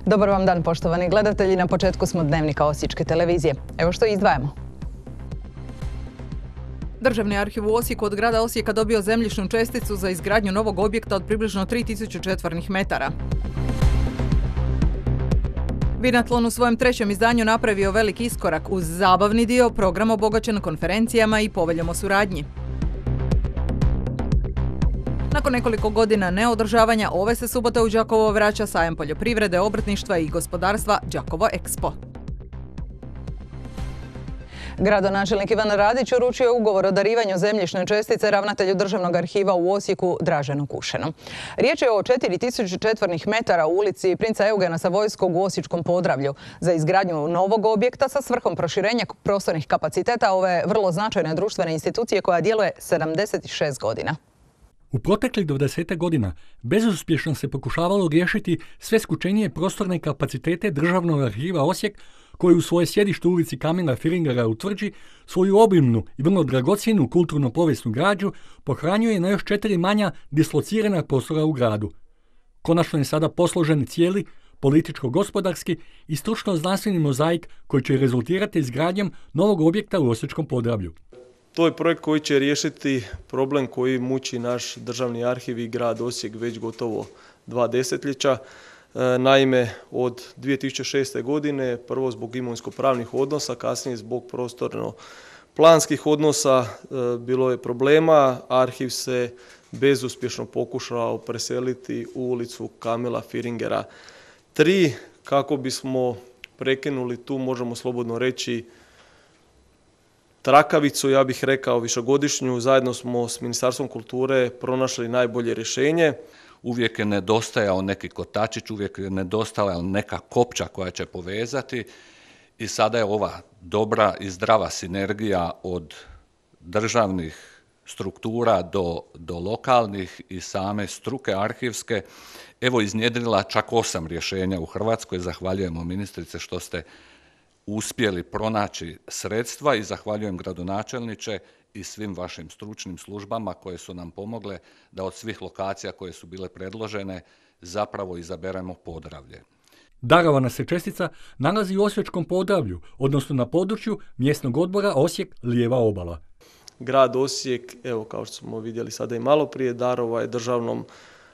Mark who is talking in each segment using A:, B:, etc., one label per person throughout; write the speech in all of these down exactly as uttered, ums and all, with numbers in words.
A: Dobar vam dan, poštovani gledatelji. Na početku smo dnevnika Osječke televizije. Evo što izdvajamo. Državni arhiv u Osijeku od grada Osijeka dobio zemljišnu česticu za izgradnju novog objekta od približno tri tisuće četvornih metara. Binatlon u svojem trećem izdanju napravio veliki iskorak uz zabavni dio, program obogaćen konferencijama i poveljom o suradnji. Nakon nekoliko godina neodržavanja, ove se subote u Đakovo vraća sajam poljoprivrede, obrtništva i gospodarstva Đakovo Expo. Gradonačelnik Ivan Radić uručio je ugovor o darivanju zemljišne čestice ravnatelju Državnog arhiva u Osijeku Draženu Kušenu. Riječ je o četiri tisuće četvornih metara u ulici Princa Eugena Savojskog u Osječkom Podravlju za izgradnju novog objekta sa svrhom proširenja prostornih kapaciteta ove vrlo značajne društvene institucije koja djeluje sedamdeset šest godina.
B: U proteklih dvadeset godina bezuspješno se pokušavalo riješiti sve skučenije prostorne kapacitete Državnog arhiva Osijek, koji u svoje sjedište u ulici Kamila Firingera u Tvrđi svoju obimnu i vrlo dragocjenu kulturno-povijesnu građu pohranjuje na još četiri manja dislocirana prostora u gradu. Konačno je sada posložen cijeli političko-gospodarski i stručno-znanstveni mozaik koji će rezultirati izgradnjom novog objekta u Osječkom Podravlju.
C: To je projekt koji će riješiti problem koji muči naš državni arhiv i grad Osijek već gotovo dva desetljeća. Naime, od dvije tisuće šeste. godine, prvo zbog imovinsko-pravnih odnosa, kasnije zbog prostorno-planskih odnosa, bilo je problema. Arhiv se bezuspješno pokušao preseliti u ulicu Kamila Firingera tri, kako bismo prekinuli tu, možemo slobodno reći, trakavicu, ja bih rekao višegodišnju. Zajedno smo s Ministarstvom kulture pronašli najbolje rješenje.
D: Uvijek je nedostajao neki kotačić, uvijek je nedostajala neka kopča koja će povezati i sada je ova dobra i zdrava sinergija od državnih struktura do, do lokalnih i same struke arhivske evo iznjedrila čak osam rješenja u Hrvatskoj. Zahvaljujemo ministrice što ste uspjeli pronaći sredstva i zahvaljujem gradonačelniče i svim vašim stručnim službama koje su nam pomogle da od svih lokacija koje su bile predložene zapravo izaberemo Podravlje.
B: Darovana se čestica nalazi u Osječkom Podravlju, odnosno na području mjesnog odbora Osijek Lijeva obala.
C: Grad Osijek, evo kao što smo vidjeli sada i malo prije, darovao je Državnom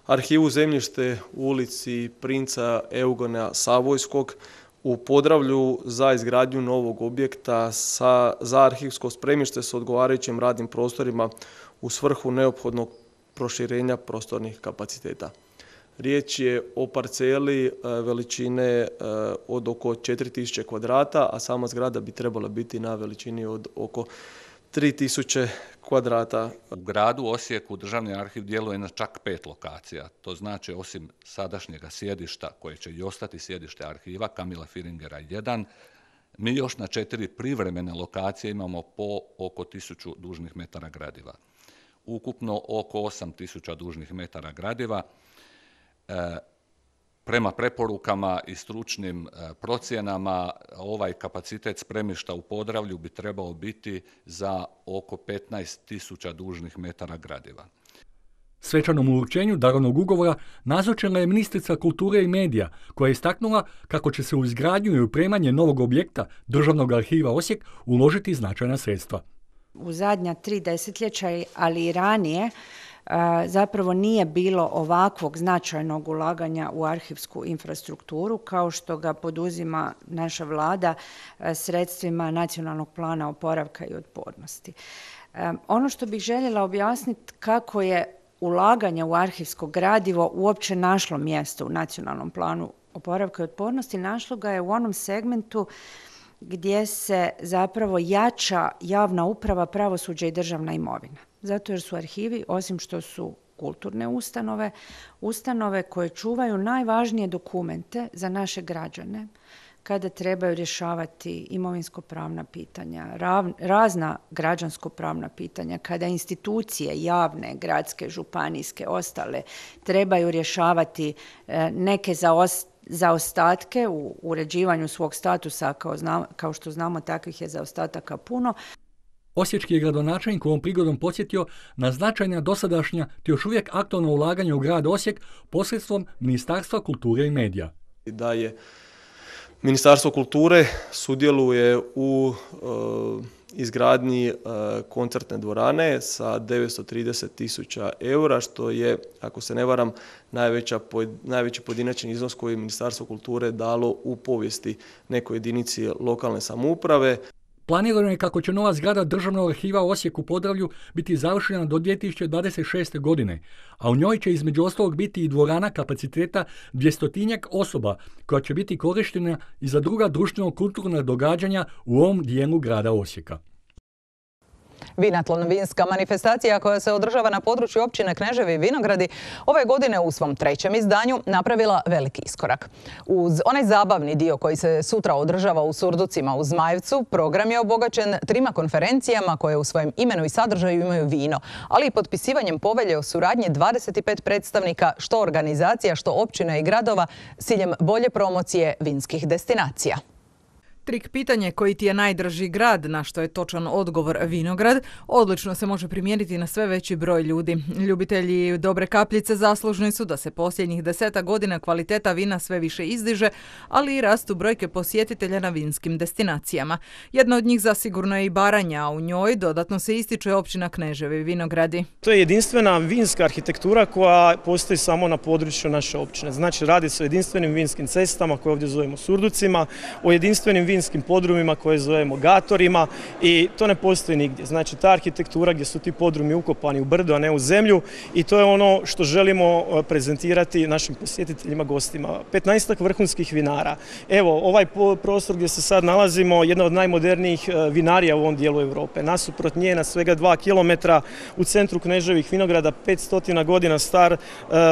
C: arhivu zemljište u ulici Princa Eugena Savojskog u Podravlju za izgradnju novog objekta sa, za arhivsko spremište s odgovarajućim radnim prostorima u svrhu neophodnog proširenja prostornih kapaciteta. Riječ je o parceli veličine od oko četiri tisuće kvadrata, a sama zgrada bi trebala biti na veličini od oko tri tisuće kvadrata.
D: U gradu Osijeku Državni arhiv djeluje na čak pet lokacija. To znači osim sadašnjega sjedišta, koje će i ostati sjedište arhiva, Kamila Firingera jedan, mi još na četiri privremene lokacije imamo po oko tisuću dužnih metara gradiva. Ukupno oko osam tisuća dužnih metara gradiva. E, Prema preporukama i stručnim procjenama ovaj kapacitet spremišta u Podravlju bi trebao biti za oko petnaest tisuća dužnih metara gradiva.
B: Svečanom uručenju darovnog ugovora nazočila je ministrica kulture i medija, koja je istaknula kako će se u izgradnju i opremanje novog objekta Državnog arhiva Osijek uložiti značajna sredstva.
E: U zadnja tri desetljeća, ali i ranije, zapravo nije bilo ovakvog značajnog ulaganja u arhivsku infrastrukturu kao što ga poduzima naša vlada sredstvima Nacionalnog plana oporavka i otpornosti. Ono što bih željela objasniti kako je ulaganje u arhivsko gradivo uopće našlo mjesto u Nacionalnom planu oporavka i otpornosti, našlo ga je u onom segmentu gdje se zapravo jača javna uprava, pravosuđe i državna imovina. Zato jer su arhivi, osim što su kulturne ustanove, ustanove koje čuvaju najvažnije dokumente za naše građane kada trebaju rješavati imovinsko-pravna pitanja, razna građansko-pravna pitanja, kada institucije javne, gradske, županijske, ostale trebaju rješavati neke zaostatke u uređivanju svog statusa, kao, znam, kao što znamo takvih je zaostataka puno.
B: Osječki je gradonačelnik ovom prigodom podsjetio na značajna dosadašnja te još uvijek aktualna ulaganja u grad Osijek posredstvom Ministarstva kulture i medija.
C: da je Ministarstvo kulture sudjeluje u uh, izgradnji uh, koncertne dvorane sa devetsto trideset tisuća eura, što je, ako se ne varam, najveća, najveći pojedinačni iznos koji je Ministarstvo kulture dalo u povijesti nekoj jedinici lokalne samouprave.
B: Planirano je kako će nova zgrada Državnog arhiva u Osijeku Podravlju biti završena do dvije tisuće dvadeset šeste. godine, a u njoj će između ostalog biti i dvorana kapaciteta dvjestotinjak osoba koja će biti korištena i za druga društveno-kulturna događanja u ovom dijelu grada Osijeka.
A: Vinatlon, vinska manifestacija koja se održava na području općine Kneževi i Vinogradi, ove godine u svom trećem izdanju napravila veliki iskorak. Uz onaj zabavni dio koji se sutra održava u Surducima u Zmajevcu, program je obogaćen trima konferencijama koje u svojem imenu i sadržaju imaju vino, ali i potpisivanjem povelje o suradnji dvadeset pet predstavnika što organizacija, što općina i gradova s ciljem bolje promocije vinskih destinacija.
F: Trik pitanje koji ti je najdraži grad, na što je točan odgovor Vinograd, odlično se može primijeniti na sve veći broj ljudi. Ljubitelji dobre kapljice zaslužni su da se posljednjih deseta godina kvaliteta vina sve više izdiže, ali i rastu brojke posjetitelja na vinskim destinacijama. Jedna od njih zasigurno je i Baranja, a u njoj dodatno se ističe općina Kneževi i Vinogradi.
G: To je jedinstvena vinska arhitektura koja postoji samo na području naše općine. Znači, radi se o jedinstvenim vinskim cestama koje ovdje zovemo Surducima, o jedinstvenim vinskim podrumima koje zovemo gatorima i to ne postoji nigdje. Znači, ta arhitektura gdje su ti podrumi ukopani u brdo, a ne u zemlju, i to je ono što želimo prezentirati našim posjetiteljima, gostima. petnaestak vrhunskih vinara. Evo, ovaj prostor gdje se sad nalazimo, jedna od najmodernijih vinarija u ovom dijelu Europe. Nasuprot nje na svega dva kilometra u centru Kneževih Vinograda, petsto godina star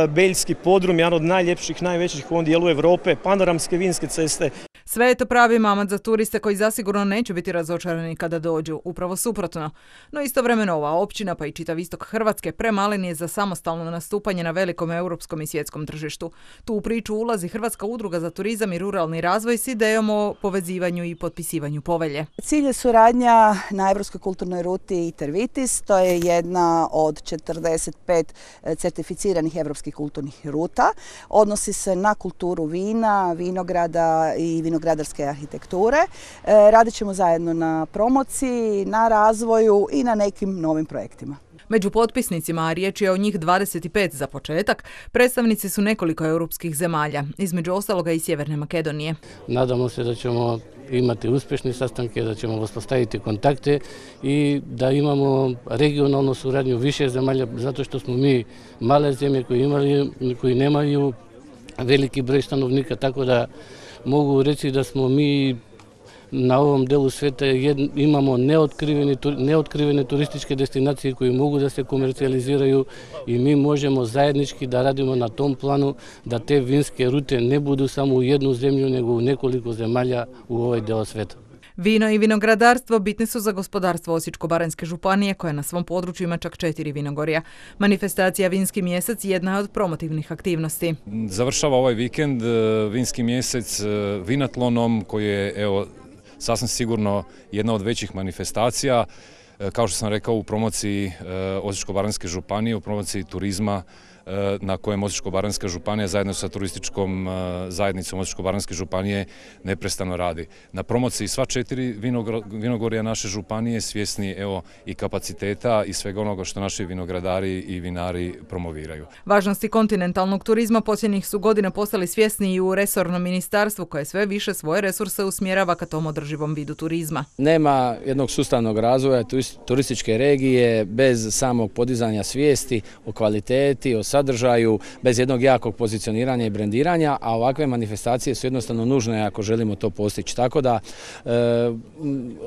G: beljski podrum, jedan od najljepših, najvećih u ovom dijelu Europe, panoramske vinske ceste.
F: Sve je to pravi mamac za turiste koji zasigurno neće biti razočarani kada dođu, upravo suprotno. No istovremeno ova općina, pa i čitav istok Hrvatske, premalen je za samostalno nastupanje na velikom europskom i svjetskom tržištu. Tu u priču ulazi Hrvatska udruga za turizam i ruralni razvoj s idejom o povezivanju i potpisivanju povelje.
H: Cilj je suradnja na Europskoj kulturnoj ruti Itervitis. To je jedna od četrdeset pet certificiranih europskih kulturnih ruta. Odnosi se na kulturu vina, vinograda i vinogradarske arhitekture. Radit ćemo zajedno na promociji, na razvoju i na nekim novim projektima.
F: Među potpisnicima, a riječ je o njih dvadeset pet za početak, predstavnici su nekoliko europskih zemalja, između ostaloga i Sjeverne Makedonije.
I: Nadamo se da ćemo imati uspješne sastanke, da ćemo uspostaviti kontakte i da imamo regionalnu suradnju više zemalja, zato što smo mi male zemlje koji, imali, koji nemaju veliki broj stanovnika, tako da mogu reći da smo mi na ovom delu svijeta imamo neotkrivene, neotkrivene turističke destinacije koje mogu da se komercijaliziraju i mi možemo zajednički da radimo na tom planu da te vinske rute ne budu samo u jednu zemlju nego u nekoliko zemalja u ovaj delu svijeta.
F: Vino i vinogradarstvo bitni su za gospodarstvo Osječko-baranjske županije koja na svom području ima čak četiri vinogorja. Manifestacija Vinski mjesec jedna je od promotivnih aktivnosti.
J: Završava ovaj vikend Vinski mjesec vinatlonom koji je evo, sasvim sigurno jedna od većih manifestacija, kao što sam rekao, u promociji Osječko-baranjske županije, u promociji turizma na kojem Osječko-baranjska županija zajedno sa turističkom zajednicom Osječko-baranjske županije neprestano radi. Na promociji sva četiri vinogorja naše županije svjesni evo, i kapaciteta i svega onoga što naši vinogradari i vinari promoviraju.
F: Važnosti kontinentalnog turizma posljednjih su godina postali svjesni i u resornom ministarstvu koje sve više svoje resurse usmjerava ka tom održivom vidu turizma.
K: Nema jednog sustavnog razvoja turističke regije bez samog podizanja svijesti o kvaliteti, o sadržaju, bez jednog jakog pozicioniranja i brendiranja, a ovakve manifestacije su jednostavno nužne ako želimo to postići. Tako da e,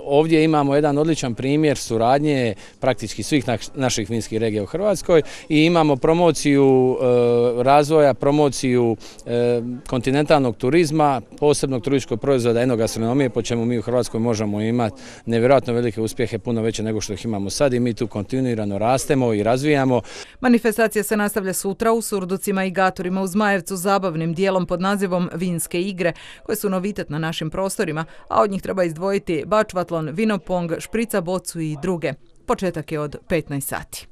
K: ovdje imamo jedan odličan primjer suradnje praktički svih na, naših vinskih regija u Hrvatskoj i imamo promociju e, razvoja, promociju e, kontinentalnog turizma, posebnog turističkog proizvoda, enogastronomije, po čemu mi u Hrvatskoj možemo imati nevjerojatno velike uspjehe, puno veće nego što ih imamo sad i mi tu kontinuirano rastemo i razvijamo.
F: Manifestacija se nastavlja sutra u Surducima i Gatorima u Zmajevcu zabavnim dijelom pod nazivom Vinske igre, koje su novitet na našim prostorima, a od njih treba izdvojiti bačvatlon, vinopong, šprica bocu i druge. Početak je od petnaest sati.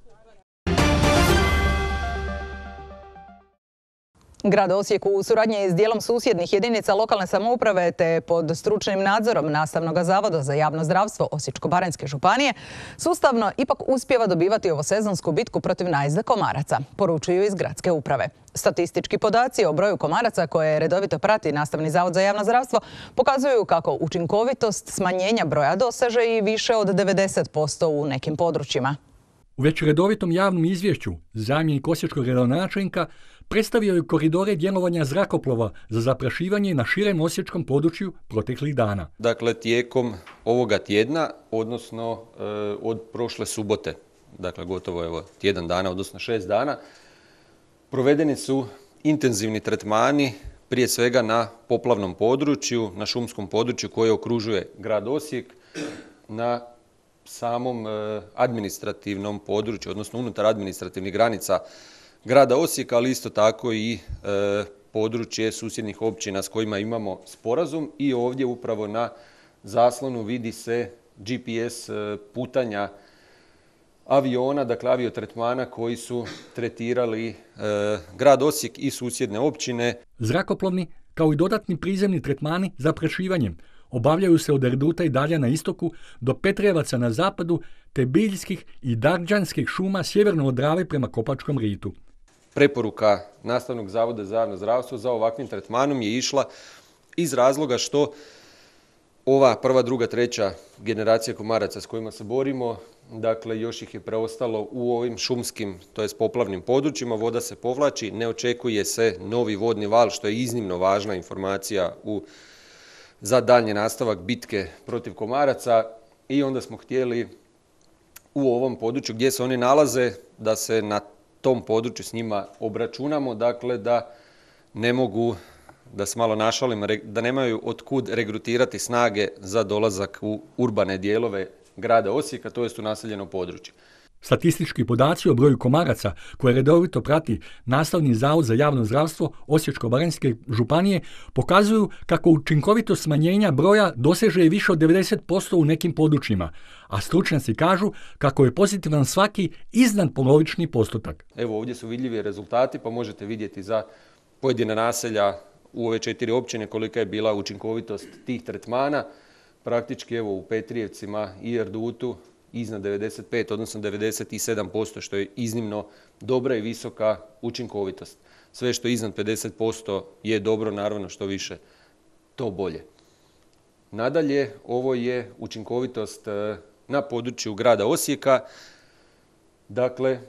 A: Grad Osijek u suradnji s dijelom susjednih jedinica lokalne samouprave te pod stručnim nadzorom Nastavnog zavoda za javno zdravstvo Osječko-baranjske županije sustavno ipak uspijeva dobivati ovosezonsku bitku protiv najezde komaraca, poručuju iz gradske uprave. Statistički podaci o broju komaraca koje redovito prati Nastavni zavod za javno zdravstvo pokazuju kako učinkovitost smanjenja broja doseže i više od devedeset posto u nekim područjima.
B: U već redovitom javnom izvješću zamjenik osječkog gradonačelnika predstavio je koridore djelovanja zrakoplova za zaprašivanje na širem osječkom području proteklih dana.
L: Dakle, tijekom ovoga tjedna, odnosno e, od prošle subote, dakle gotovo evo, tjedan dana, odnosno šest dana, provedeni su intenzivni tretmani, prije svega na poplavnom području, na šumskom području koje okružuje grad Osijek, na samom e, administrativnom području, odnosno unutar administrativnih granica grada Osijeka, ali isto tako i e, područje susjednih općina s kojima imamo sporazum i ovdje upravo na zaslonu vidi se G P S e, putanja aviona, dakle aviotretmana koji su tretirali e, grad Osijek i susjedne općine.
B: Zrakoplovni kao i dodatni prizemni tretmani za prašivanjem obavljaju se od Erduta i dalje na istoku do Petrijevaca na zapadu te biljskih i darđanskih šuma sjeverno od Drave prema Kopačkom ritu.
L: Preporuka Nastavnog zavoda za javno zdravstvo za ovakvim tretmanom je išla iz razloga što ova prva, druga, treća generacija komaraca s kojima se borimo, dakle još ih je preostalo u ovim šumskim, to jest poplavnim područjima, voda se povlači, ne očekuje se novi vodni val, što je iznimno važna informacija u, za daljnji nastavak bitke protiv komaraca i onda smo htjeli u ovom području gdje se oni nalaze da se na tom području s njima obračunamo, dakle da ne mogu, da se malo našalim, da nemaju otkud regrutirati snage za dolazak u urbane dijelove grada Osijeka, to jest u naseljeno područje.
B: Statistički podaci o broju komaraca koje redovito prati Nastavni zavod za javno zdravstvo Osječko-baranjske županije pokazuju kako učinkovitost smanjenja broja doseže i više od devedeset posto u nekim područjima, a stručnjaci kažu kako je pozitivan svaki iznad polovični postotak.
L: Evo ovdje su vidljivi rezultati, pa možete vidjeti za pojedina naselja u ove četiri općine kolika je bila učinkovitost tih tretmana. Praktički evo u Petrijevcima i Erdutu iznad devedeset pet, odnosno devedeset sedam posto, što je iznimno dobra i visoka učinkovitost. Sve što je iznad pedeset posto je dobro, naravno što više, to bolje. Nadalje, ovo je učinkovitost na području grada Osijeka. Dakle,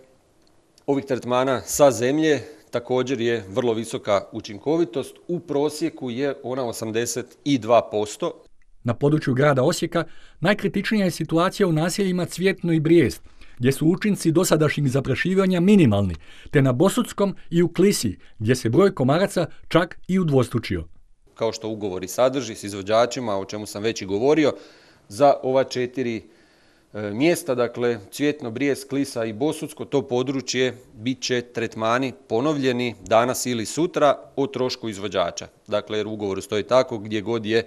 L: ovih tretmana sa zemlje također je vrlo visoka učinkovitost. U prosjeku je ona osamdeset dva posto.
B: Na području grada Osijeka najkritičnija je situacija u naseljima Cvjetno i Brijest, gdje su učinci dosadašnjih zaprašivanja minimalni, te na Bosutskom i u Klisi, gdje se broj komaraca čak i udvostručio.
L: Kao što ugovori sadrži s izvođačima, o čemu sam već i govorio, za ova četiri e, mjesta, dakle Cvjetno, Brijest, Klisa i Bosutsko, to područje bit će tretmani ponovljeni danas ili sutra o trošku izvođača. Dakle, jer u ugovoru stoji tako gdje god je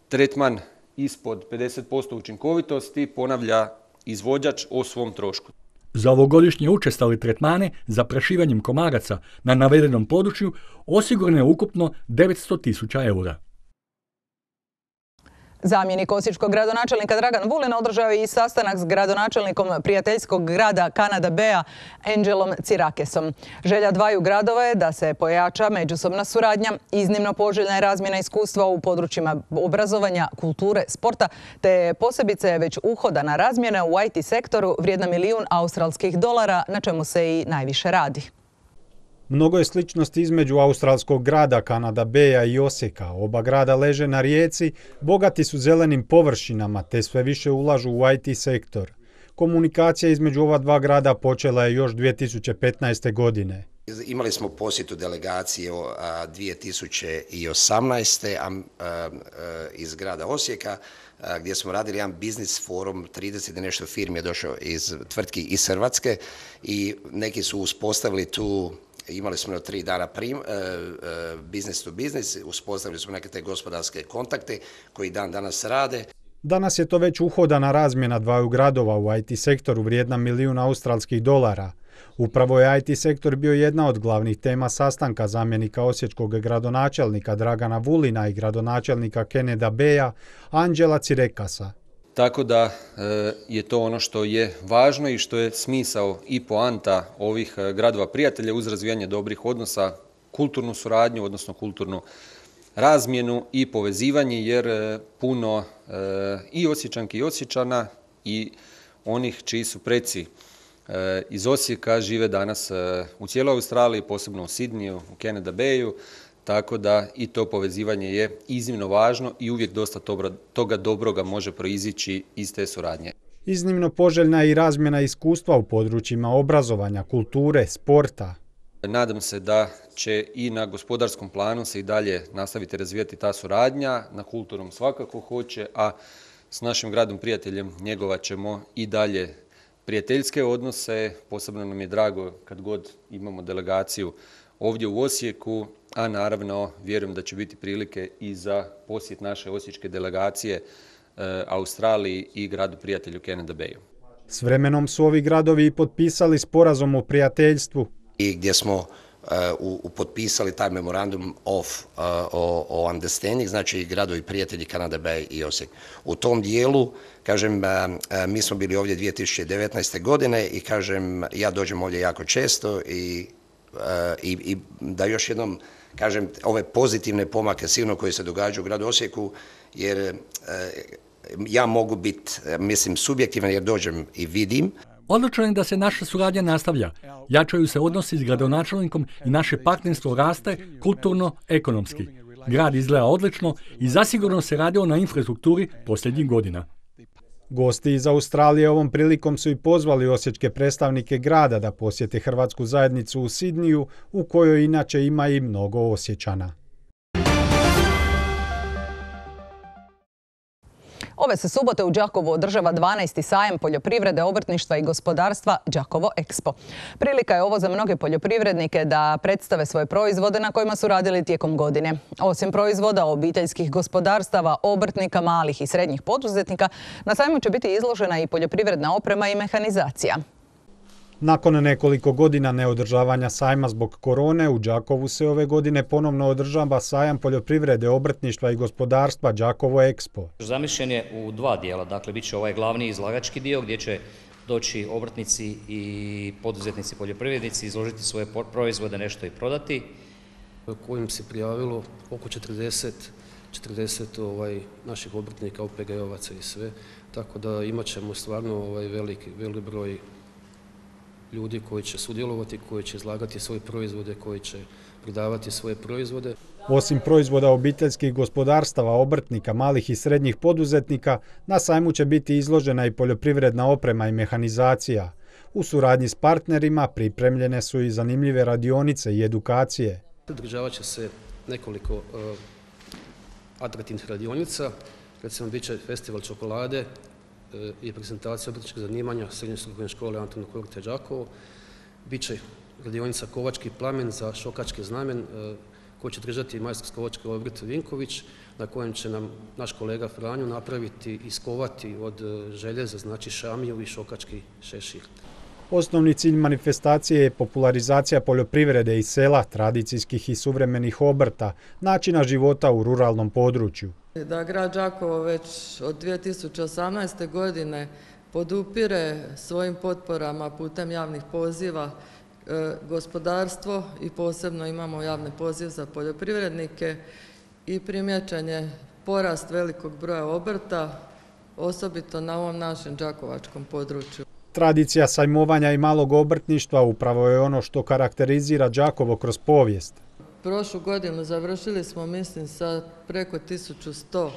L: tretman ispod pedeset posto učinkovitosti ponavlja izvođač o svom trošku.
B: Za ovogodišnje učestale tretmane za prašivanjem komaraca na navedenom području osigurano je ukupno devetsto tisuća eura.
A: Zamjenik osječkog gradonačelnika Dragan Vulin održao je i sastanak s gradonačelnikom prijateljskog grada Kanada Bea Angelom Cirakesom. Želja dvaju gradova je da se pojača međusobna suradnja, iznimno poželjna je razmjena iskustva u područjima obrazovanja, kulture, sporta, te posebice već uhodana razmjena u I T sektoru vrijedna milijun australskih dolara, na čemu se i najviše radi.
M: Mnogo je sličnosti između australskog grada Kanada Bea i Osijeka. Oba grada leže na rijeci, bogati su zelenim površinama te sve više ulažu u I T sektor. Komunikacija između ova dva grada počela je još dvije tisuće petnaeste. godine.
N: Imali smo posjetu delegacije dvije tisuće osamnaeste. iz grada Osijeka gdje smo radili jedan biznis forum, trideset i nešto firmi je došlo iz tvrtki iz Hrvatske i neki su uspostavili tu. Imali smo tri dana prim, uh, uh, business to business, uspostavili smo neke te gospodarske kontakte koji dan danas rade.
M: Danas je to već uhodana razmjena dvaju gradova u I T sektoru vrijedna milijun australskih dolara. Upravo je I T sektor bio jedna od glavnih tema sastanka zamjenika osječkog gradonačelnika Dragana Vulina i gradonačelnika Canada Baya Anđela Cirekasa.
L: Tako da je to ono što je važno i što je smisao i poanta ovih gradova prijatelja uz razvijanje dobrih odnosa, kulturnu suradnju, odnosno kulturnu razmjenu i povezivanje, jer puno i Osječanki i Osječana i onih čiji su preci iz Osijeka žive danas u cijeloj Australiji, posebno u Sidniju, u Canada Bayu, tako da i to povezivanje je iznimno važno i uvijek dosta toga dobroga može proizići iz te suradnje.
M: Iznimno poželjna je i razmjena iskustva u područjima obrazovanja, kulture, sporta.
L: Nadam se da će i na gospodarskom planu se i dalje nastaviti razvijati ta suradnja, na kulturnom svakako hoće, a s našim gradom prijateljem njegovat ćemo i dalje prijateljske odnose. Posebno nam je drago kad god imamo delegaciju ovdje u Osijeku, a naravno vjerujem da će biti prilike i za posjet naše osječke delegacije e, Australiji i gradu prijatelju Canada Bayu.
M: S vremenom su ovi gradovi i potpisali sporazum o prijateljstvu.
N: I gdje smo uh, u, potpisali taj memorandum of uh, o, o understanding, znači gradovi prijatelji Canada Bay i Osijek. U tom dijelu, kažem, uh, mi smo bili ovdje dvije tisuće devetnaeste. godine i kažem, ja dođem ovdje jako često i, uh, i, i da još jednom kažem ove pozitivne pomake sigurno koje se događaju u gradu Osijeku, jer uh, ja mogu biti, mislim, subjektivan jer dođem i vidim.
B: Odlučno je da se naša suradnja nastavlja. Jačaju se odnosi s gradonačelnikom i naše partnerstvo raste kulturno, ekonomski. Grad izgleda odlično i zasigurno se radilo na infrastrukturi posljednjih godina.
M: Gosti iz Australije ovom prilikom su i pozvali osječke predstavnike grada da posjete hrvatsku zajednicu u Sidniju, u kojoj inače ima i mnogo Osječana.
A: Ove se subote u Đakovu održava dvanaesti sajam poljoprivrede, obrtništva i gospodarstva Đakovo Expo. Prilika je ovo za mnoge poljoprivrednike da predstave svoje proizvode na kojima su radili tijekom godine. Osim proizvoda obiteljskih gospodarstava, obrtnika, malih i srednjih poduzetnika, na sajmu će biti izložena i poljoprivredna oprema i mehanizacija.
M: Nakon nekoliko godina neodržavanja sajma zbog korone, u Đakovu se ove godine ponovno održava sajam poljoprivrede, obrtništva i gospodarstva Đakovo Expo.
O: Zamišljen je u dva dijela, dakle bit će ovaj glavni izlagački dio gdje će doći obrtnici i poduzetnici poljoprivrednici izložiti svoje proizvode, nešto i prodati.
P: Kojim se prijavilo oko četrdeset, četrdeset ovaj, naših obrtnika, O P G-ovaca i sve, tako da imat ćemo stvarno ovaj, veliki, veliki broj ljudi koji će sudjelovati, koji će izlagati svoje proizvode, koji će prodavati svoje proizvode.
M: Osim proizvoda obiteljskih gospodarstava, obrtnika, malih i srednjih poduzetnika, na sajmu će biti izložena i poljoprivredna oprema i mehanizacija. U suradnji s partnerima pripremljene su i zanimljive radionice i edukacije.
P: Održavat će se nekoliko uh, atraktivnih radionica, recimo bit će festival čokolade i prezentacija obrtničkog zanimanja Srednje strukovne škole Antuna Kurte Đakovo. Biće radionica Kovački plamen za šokački znamen koji će držati majstor kovački obrt Vinković, na kojem će nam naš kolega Franjo napraviti i iskovati od željeza, znači šamiju i šokački šešir.
M: Osnovni cilj manifestacije je popularizacija poljoprivrede i sela, tradicijskih i suvremenih obrta, načina života u ruralnom području.
Q: Da grad Đakovo već od dvije tisuće osamnaeste. godine podupire svojim potporama putem javnih poziva e, gospodarstvo i posebno imamo javni poziv za poljoprivrednike i primjećen je porast velikog broja obrta, osobito na ovom našem đakovačkom području.
M: Tradicija sajmovanja i malog obrtništva upravo je ono što karakterizira Đakovo kroz povijest.
Q: Prošlu godinu završili smo, mislim, sa preko tisuću sto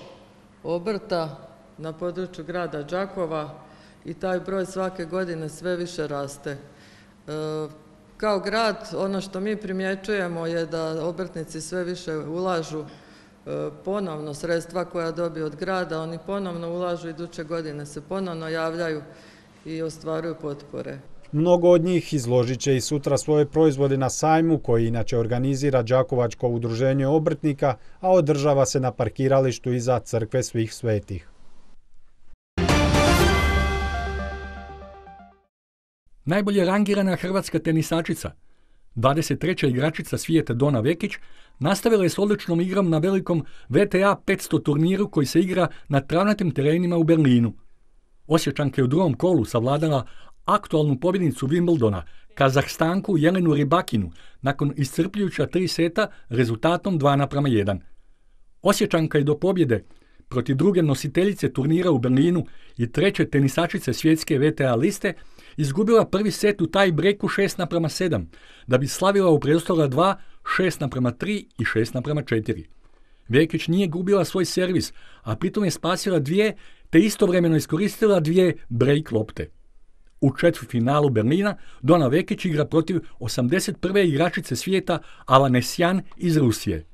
Q: obrta na području grada Đakova i taj broj svake godine sve više raste. E, kao grad, ono što mi primjećujemo je da obrtnici sve više ulažu e, ponovno sredstva koja dobiju od grada, oni ponovno ulažu, iduće godine se ponovno javljaju i ostvaruju potpore.
M: Mnogo od njih izložit će i sutra svoje proizvode na sajmu koji inače organizira Đakovačko udruženje obrtnika, a održava se na parkiralištu iza Crkve svih svetih.
B: Najbolje rangirana hrvatska tenisačica, dvadeset treća igračica svijeta Dona Vekić, nastavila je s odličnom igrom na velikom V T A petsto turniru koji se igra na travnatim terenima u Berlinu. Osječanka je u drugom kolu savladala aktualnu pobjednicu Wimbledona, Kazahstanku Jelenu Rybakinu, nakon iscrpljujuća tri seta rezultatom dva naprama jedan. Osječanka je do pobjede protiv druge nositeljice turnira u Berlinu i treće tenisačice svjetske V T A liste izgubila prvi set u taj breaku šest naprama sedam, da bi slavila u preostala dva, šest naprama tri i šest naprama četiri. Vekić nije gubila svoj servis, a pritom je spasila dvije, te istovremeno iskoristila dvije break lopte. U četvrtfinalu Berlina Dona Vekić igra protiv osamdeset prve igračice svijeta Avanesyan iz Rusije.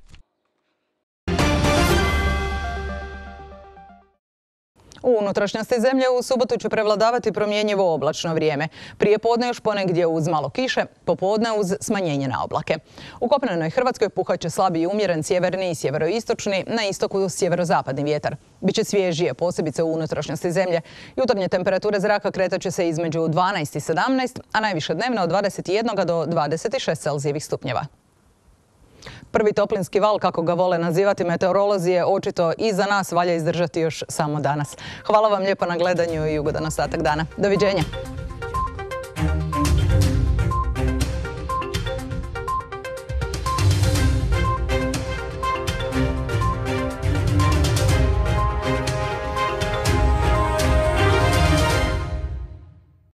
A: U unutrašnjosti zemlje u subotu će prevladavati promjenjivo oblačno vrijeme. Prije podne još ponegdje uz malo kiše, popodne uz smanjenje na oblake. U kopnenoj Hrvatskoj puhat će slabi i umjeren sjeverni i sjeveroistočni, na istoku sjeverozapadni vjetar. Biće svježije, posebice u unutrašnjosti zemlje. Jutarnje temperature zraka kretat će se između dvanaest i sedamnaest, a najviše dnevno od dvadeset jedan do dvadeset šest Celzijevih stupnjeva. Prvi toplinski val, kako ga vole nazivati meteorolozi, je očito i za nas valja izdržati još samo danas. Hvala vam lijepo na gledanju i ugodan ostatak dana. Doviđenja!